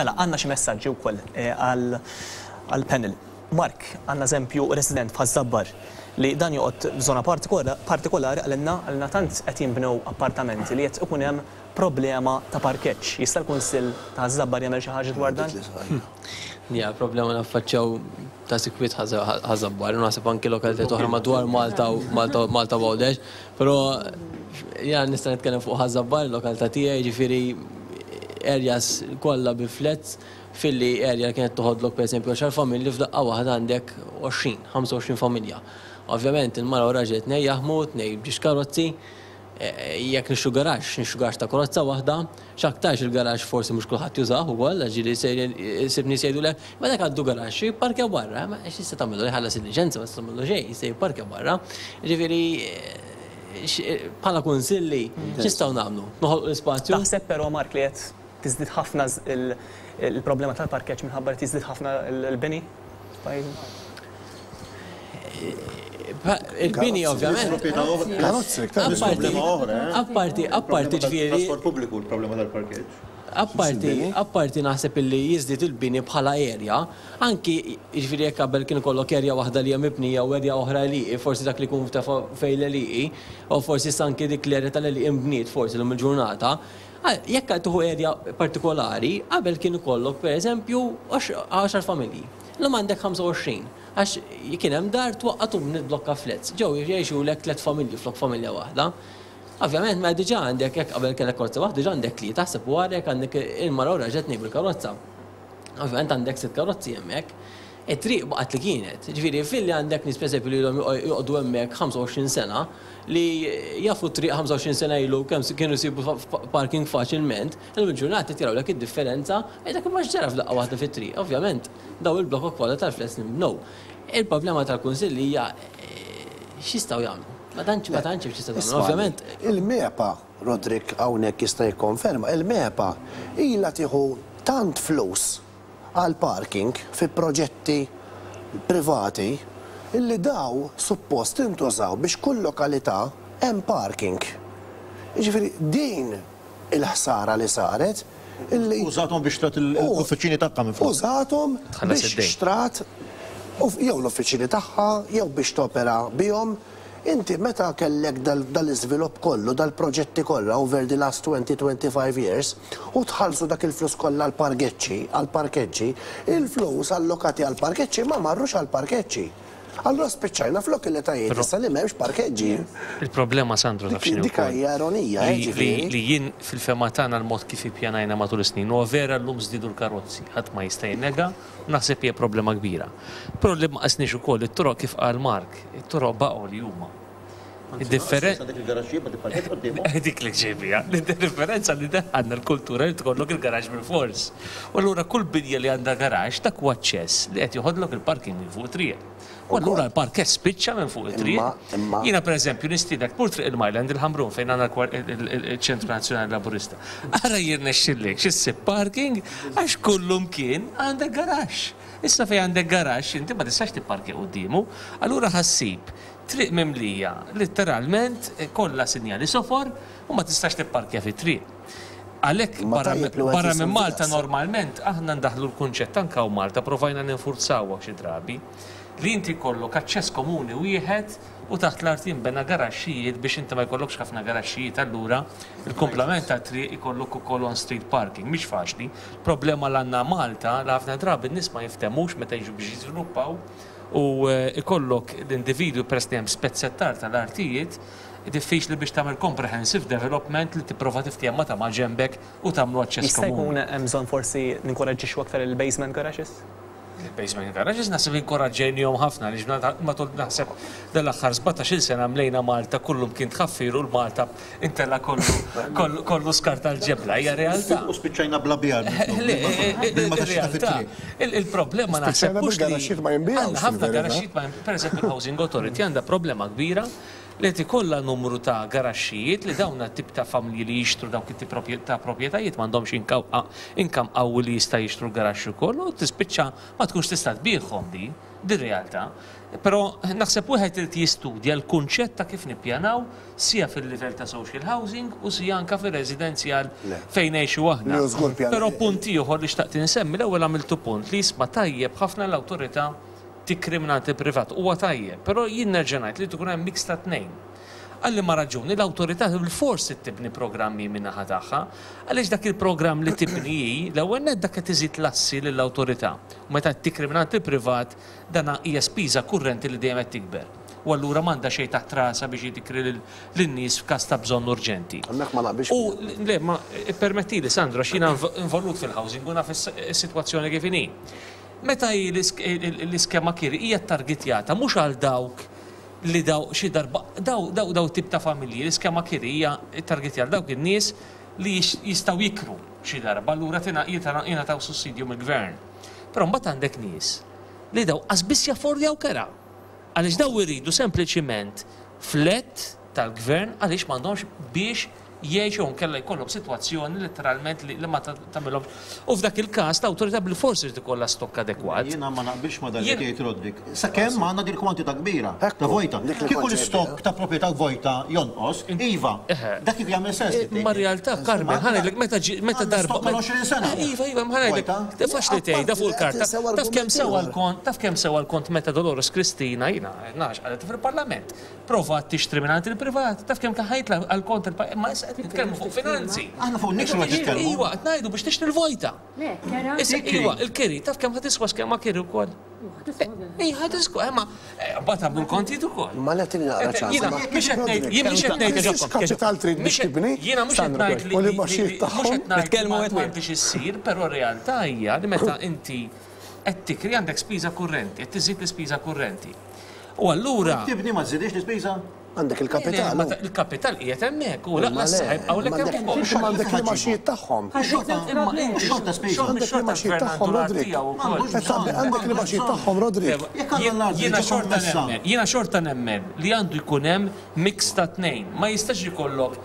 Mela, għandna xi messaġġi wkoll għall-panel. Mark, għandna eżempju resident f'Ħaż-Żabbar li dan joqgħod f'żona partikolari qalilna qalilna tant qed jinbnew appartamenti li qed ikun hemm problema ta' parkeġġ. Jista' l-Kunsill ta' Ħaż-Żabbar jagħmel xi ħaġa dwar dan? Hija problema naffaċċjaw ta' sikwit Ħaż-Żabbar, u naħseb anki lokalitajiet oħra madwar Malta u Malta u Għawdex. Però jiena nista' nitkellem fuq Ħaż-Żabbar, il-lokalità tiegħi, jiġifieri areas kollha bi flats filli area li kienet toħodlok pereżempju għaxar familji f'daqqa waħda għandek 20, 25 familja. Ovvjament il-mara u r-raġel tnejn jaħdmu, tnejn b'ġiex karozzi, jekk nixtru garaxx, nixtru garaxx ta' karozza waħda, x'aktarx il-garaxx forsi mhux kulħadd jużah ukoll għax ġieli ssib nies jgħidulek, ma dak għandu garaxx, jipparkja barra, ma x'tista' tagħmillu, jħallas il-liċenzja ma tista' tagħmillu xejn, jista' jipparkja barra. Jiġifieri bħala kunsilli x'nistgħu nagħmlu? Noħolqu l-ispazju? Taħseb però Mark li qed tiżdied ħafna l-problema tal-parkeġġ minħabba li qed jiżdied ħafna l-bini f'pajjiżna? Il-bini ovvjament. Karozzi, iktar problema oħra. Eh? Apparti, apparti ġifieri. Trasport pubbliku l-problema tal-parkeġġ. Apparti, apparti naħseb illi jiżdied il-bini bħala area, anki ġifieri jekk qabel kien ikollok area waħda li hija mibnija u area oħra għelieqi, forsi dak li jkun tefa' fejn l-għelieqi, u forsi issa anki dik l-area tal-għelieqi nbniet forsi llum il-ġurnata. Jekk tieħu area partikolari, qabel kien ikollok pereżempju għaxar familji. Illum għandek 25. Għax kien hemm dar twaqqgħet u bniet blokka flats. Ġew jgħixulek tlett familji flok familja waħda. Ovvjament mela diġà għandek jekk qabel kellek karozza waħda diġà għandek tlieta, aħseb u ara jekk għandek il-mara u r-raġel tnejn bil-karozza. Ovvjament għandek sitt karozzi hemmhekk. It-triq baqgħet li kienet. Ġifieri filli għandek nies pereżempju li ilhom joqogħdu hemmhekk 25 sena li jafu t-triq 25 sena ilu kemm kienu jsibu parking faċilment, illum il-ġurnata qed jarawlek id-differenza, jgħidlek imma x'ġara f'daqqa waħda fit-triq. Ovvjament Dawn il-blokok kollha tal-flats li nbnew. Il-problema tal-Kunsill hija x'jistgħu jagħmlu. Ma tantx ma tantx hemm x'tista' tagħmel. Ovvjament. Il-MEPA, Roderick hawnhekk jista' jikkonferma, il-MEPA ilha tieħu tant flus għall-parking fi proġetti privati illi daw suppost intużaw biex kull lokalità hemm parking. Jiġifieri din il-ħsara li saret illi. Użathom biex xtrat l-uffiċini tagħha minflok. Użathom biex xtrat jew l-uffiċini tagħha jew biex topera bihom. Inti meta kellek dal-iżvilupp kollu, dal-proġetti kollha over the last 20, 25 years u tħallsu dak il-flus kollha għall-pargeċċi, għall-parkeġġi, il-flus allokati għall-parkeġġi ma marrux għall-parkeġġi. Allura spiċċajna f'lokalitajiet issa li m'hemmx parkeġġi. Il-problema Sandro taf x'inhi wkoll? Dik hija ironija, eh, ġifieri. Li jien fil-fehma tagħna l-mod kif ippjanajna matul is-snin, huwa vera llum żdiedu l-karozzi, ħadd ma jista' jinnega u naħseb hija problema kbira. Però li ma qisniex ukoll it-toroq kif qal Mark, it-toroq baqgħu li huma. Id-differenza. Dik il-garaxxijiet ma tipparkeġġ quddiemhom. Dik li ġej biha. Id-differenza li daħħalna l-kultura li tkollok il-garaxx bilfors. U allura kull binja li għandha garaxx dak huwa aċċess li qed joħodlok il-parking minn fuq it-triq. U allura l-parkeġġ spiċċa minn fuq it-triq. Jiena pereżempju nistiednek tmur Triq il-Myland il-Ħamrun fejn għandna l-Ċentru Nazzjonali Laburista. Ara jirnexxillekx issib parking għax kullumkien għandek garaxx. Issa fejn għandek garaxx inti ma tistax tipparkja quddiemu. Allura ħa ssib Triq mimlija litteralment kollha sinjali sofor u ma tistax tipparkja fit-triq. Għalhekk barra minn Malta normalment aħna ndaħħlu l-kunċett anke hawn Malta provajna ninfurzawha xi drabi li inti jkollok aċċess komuni wieħed u taħt l-art jinbena garaxxijiet biex inti ma jkollokx ħafna garaxxijiet allura l-kumplament tat-triq ikollok ukoll on street parking. Mhix faċli. Problema l għandna Malta li ħafna drabi n-nies ma jiftehmux meta jiġu biex jiżviluppaw u jkollok l-individwi peress li hemm spezzettar tal-artijiet, diffiċli biex tagħmel comprehensive development li tipprova tiftiehem ma' ta' maġenbek u tagħmlu aċċess Jista' jkun hemm bżonn forsi ninkoraġġixxu aktar il-basement garages? Il-basement garages naħseb inkoraġġejnihom ħafna għaliex matul naħseb dal-aħħar sbatax-il sena mlejna Malta kullumkien tħaffir u l-Malta Intella kollu kollu skart tal-ġebla, hija realtà. U spiċċajna bla bjar. Le, realtà. Il-problema naħseb mhux li. ma jinbigħux. Ħafna garaxxijiet ma per eżempju l-Housing Authority għandha problema kbira li qed ikollha numru ta' garaxxijiet li dawn tip ta' familji li jixtru dawk it-tip ta' proprjetajiet m'għandhomx income qawwi li jista' jixtru l-garaxx ukoll u tispiċċa ma tkunx tista' tbigħhom di. Din realtà. Però naħseb wieħed irid jistudja l-kunċett ta' kif nippjanaw sija fil-livell ta' social housing u sija anke fir-residenzjal fejn ngħixu aħna. Però punt ieħor li xtaqt insemmi, l-ewwel għamiltu punt li jisma' tajjeb ħafna l-awtorità tikri mingħand il-privat. Huwa tajjeb, però jien nerġa' ngħid li jrid ikun hemm mix ta' tnejn. Għal liema raġuni l-awtorità bilfors trid tibni programm hi min-naħa tagħha, għaliex dak il-programm li tibni hi, l-ewwel nett dak qed iżid l-assi lill-awtorità. U meta qed tikri mingħand il-privat, dan hija spiża kurrenti li dejjem qed tikber. U allura m'għandha xejn taħt rasha biex hi tikri lin-nies f'każ ta' bżonn urġenti. Hemmhekk ma naqbilx U miegħek. le, ma ippermettili Sandro għax jiena involut fil-housing u naf is-sitwazzjoni kif inhi. Meta hi l-iskema kiri hija ttargitjata mhux għal dawk li daw xi darba daw daw daw tip ta' familji l-iskema kiri hija ttargetjata għal dawk in-nies li jistgħu jikru xi darba allura jingħataw sussidju mill-gvern. Però mbagħad għandek nies li daw qas biss jaffordjaw kera. Għaliex daw iridu sempliċiment flat tal-gvern għaliex m'għandhomx biex jgħixu jew inkella jkollhom sitwazzjoni letteralment li ma tagħmilhomx. U f'dak il-każ l-awtorità bilfors irid ikollha stokk adekwat. Jiena ma naqbilx ma' dak li qed jgħid Roderick. Sakemm għandna din il-kwantità kbira ta' vojta. Kieku l-istokk ta' proprjetà vojta jonqos, iva, dak kieku jagħmel sens li tgħid. Imma r-realtà, Carmen, ħa ngħidlek meta ġie meta darba. Għandna stokk għal 20 sena. Iva, iva, ma ħa ngħidlek, faċli tgħidha fuq il-karta. Taf kemm sewa l-kont, taf kemm sewa l-kont meta Dolores Cristina, jiena nafx qalet fil-Parlament, Provat tixtri mingħand il-privat, taf kemm kien ħa jitla' għal kont il-pajjiż, imma issa qed nitkellmu fuq finanzi. Aħna fuq in-nikxu qed nitkellmu. Iwa, qed ngħidu biex tixtri l-vojta. Le, kera. Issa, iwa, il-kiri, taf kemm ħa tiswa skema kiri wkoll? Ej, ħa tiswa, imma mbagħad għamlu l-kontijiet ukoll. Ma le tini naqra ċans. Jiena mhux qed ngħid, jien mhux qed ngħid. X'kapital trid biex tibni? Jiena mhux qed ngħid li. U l-imgħaxijiet tagħhom. Mhux qed ngħid li m'għandhiex issir, però r-realtà hija li meta inti qed tikri għandek spiża kurrenti, qed tiżid l-ispiża kurrenti. U allura. Jekk tibni ma żżidhiex l-ispiża? Għandek il-kapital. Le, il-kapital qiegħed hemmhekk u lanqas sa ħajbqgħulek hemm ukoll. Imma għandek l-imgħaxijiet tagħhom. Xorta spiża. Għandek l-imgħaxijiet tagħhom, Roderick. Għandek l-imgħaxijiet tagħhom, Roderick. Jiena xorta nemmen, jiena xorta nemmen li għandu jkun hemm mix ta' tnejn. Ma jistax ikollok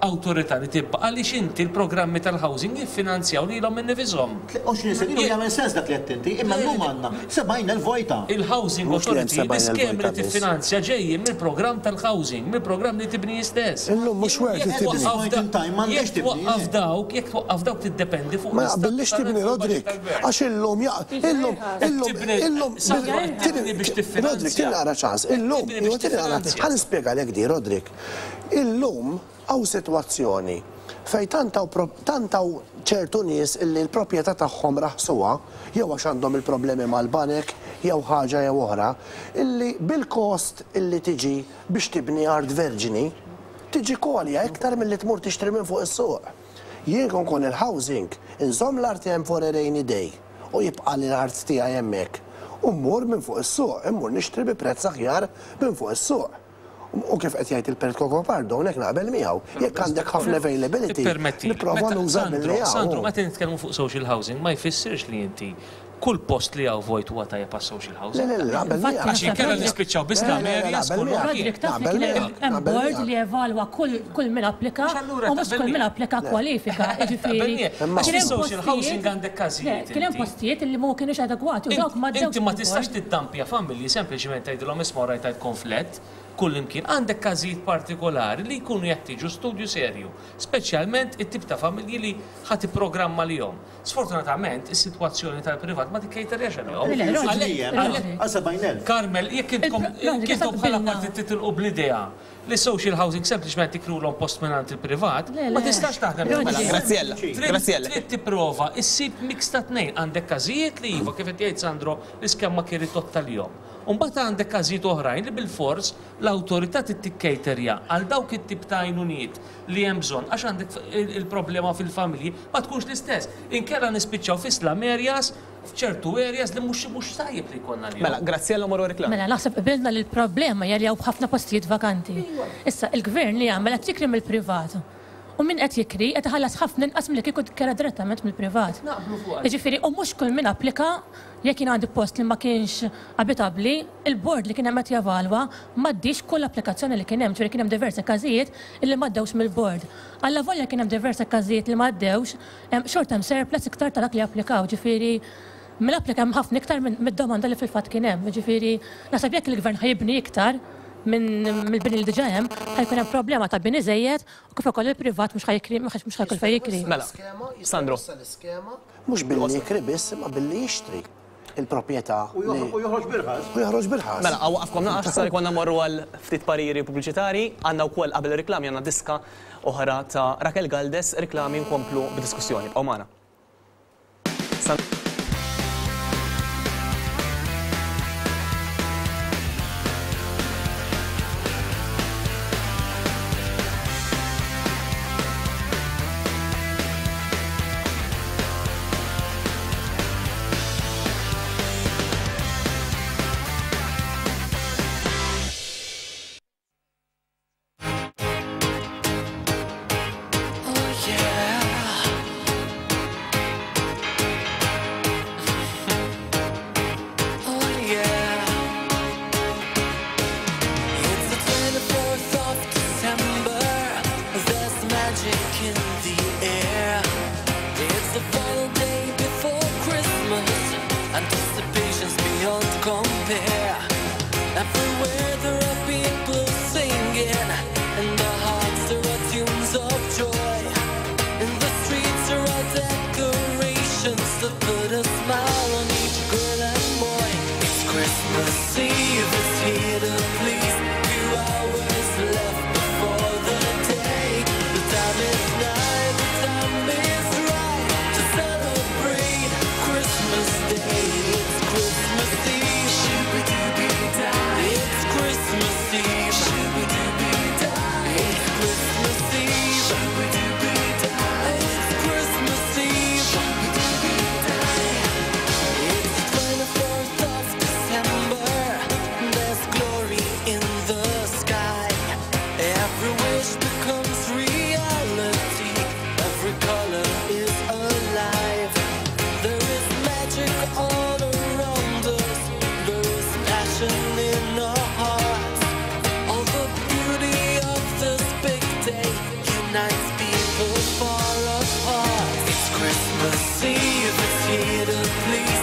awtorità li tibqa' għaliex inti l-programmi tal-housing jiffinanzjaw lilhom innifishom. 20 sena ilu jagħmel sens dak li għedt inti, imma llum għandna 70,000 vojta. Il-housing authority, l-iskemi li tiffinanzja ġejjin mill-programm tal-housing, mill-programm li tibni hi stess. Illum mhux worth li tibni. Jekk twaqqaf dawk, jekk twaqqaf dawk tiddependi fuq Ma jaqbillix tibni, Roderick, għax illum illum illum illum Roderick, tini naqra ċans, illum, tini naqra, ħa nispjegalek di, Roderick. Illum hawn sitwazzjoni fejn tant hawn tant hawn ċertu nies illi l-proprjetà tagħhom raħsuha, jew għax għandhom il-problemi mal-banek jew ħaġa jew oħra, illi bil-kost illi tiġi biex tibni art verġni, tiġik għolja iktar milli tmur tixtri minn fuq is-suq. Jien kieku nkun il-housing, inżomm l-art hemm for a rainy day u jibqagħli l-art tiegħi hemmhekk u mmur minn fuq is-suq, immur nixtri bi prezz aħjar minn fuq is-suq. U kif qed jgħid il-Perit Cocopardo, hawnhekk naqbel miegħu, jekk għandek ħafna availability, nipprova nuża milli hawn. Sandro, meta nitkellmu fuq social housing ma jfissirx li inti kull post li hawn vojt huwa tajjeb għas-social housing. Le, le, le, naqbel miegħek. Għax inkella nispiċċaw bi slum areas kull Roderick, taf li kien hemm board li evalwa kull min applika u mhux kull min applika kwalifika. Jiġifieri. Għax fis-social housing għandek każijiet. Kien hemm postijiet li ma kinux adegwati u dawk m'għaddewx. Inti ma tistax tiddampja familji sempliċement tgħidilhom isma' rajt għandkom flat Kullimkien għandek każijiet partikolari li jkunu jeħtieġu studju serju, speċjalment it-tip ta' familji li ħa tipprogramma għalihom. Sfortunatament, is-sitwazzjoni tal-privat ma tikkejterjax għalihom. Għalhekk, Carmel, jekk intkom jekk intom bħala partit titilqu bl-idea li social housing sempliċement tikrulhom post mingħand il-privat, ma tistax taħdem Mela, Graziella, Graziella. Trid tipprova issib mix ta' tnejn. Għandek każijiet li iva, kif qed jgħid Sandro, l-iskema kienet totta lihom. U mbagħad għandek każijiet oħrajn li bilfors l-awtorità trid tikkejterja għal dawk it-tip ta' għajnuniet li hemm bżonn għax għandek il-problema fil-familji ma tkunx l-istess. Inkella nispiċċaw fi slum areas, f'ċertu areas li mhux mhux tajjeb li jkollna lihom. Mela, Graziella mmorru reklam. Mela, naħseb qbilna li l-problema hija li hawn ħafna postijiet vakanti. Issa, il-Gvern li jagħmel qed jikri mill-privat. U min qed jikri qed iħallas ħafna inqas milli kieku kera direttament mill-privat. Jiġifieri, u mhux kull min applika, jekk jien għandi post li ma kienx abitabbli, il-bord li kien hemm qed jevalwa m'għaddiex kull applikazzjoni li kien hemm, ġifieri kien hemm diversi każijiet illi m'għaddewx mill-bord. Allavolja kien hemm diversi każijiet li m'għaddewx, xorta hemm surplus iktar ta' dak li applikaw, ġifieri. Mill-applika hemm ħafna iktar mid-domanda li fil-fatt kien hemm. Jiġifieri naħseb jekk il-gvern ħa jibni iktar minn mill-bini li diġà hemm, ħa jkun hemm problema ta' bini żejjed u kif ukoll il-privat mhux ħa jikri mhux ħa jkun fejn jikri. Mela, Sandro. Mhux billi jikri biss imma billi jixtri il-proprjetà. U joħroġ b'irħas. U joħroġ b'irħas. Mela, waqafkom naqas, sar ikollna mmorru għal ftit pariri pubbliċitarji. Għandna wkoll qabel ir-riklami għandna diska oħra ta' Raquel Galdes, riklami nkomplu bid-diskussjoni. Ibqgħu magħna. Christmas Eve, it's here to please.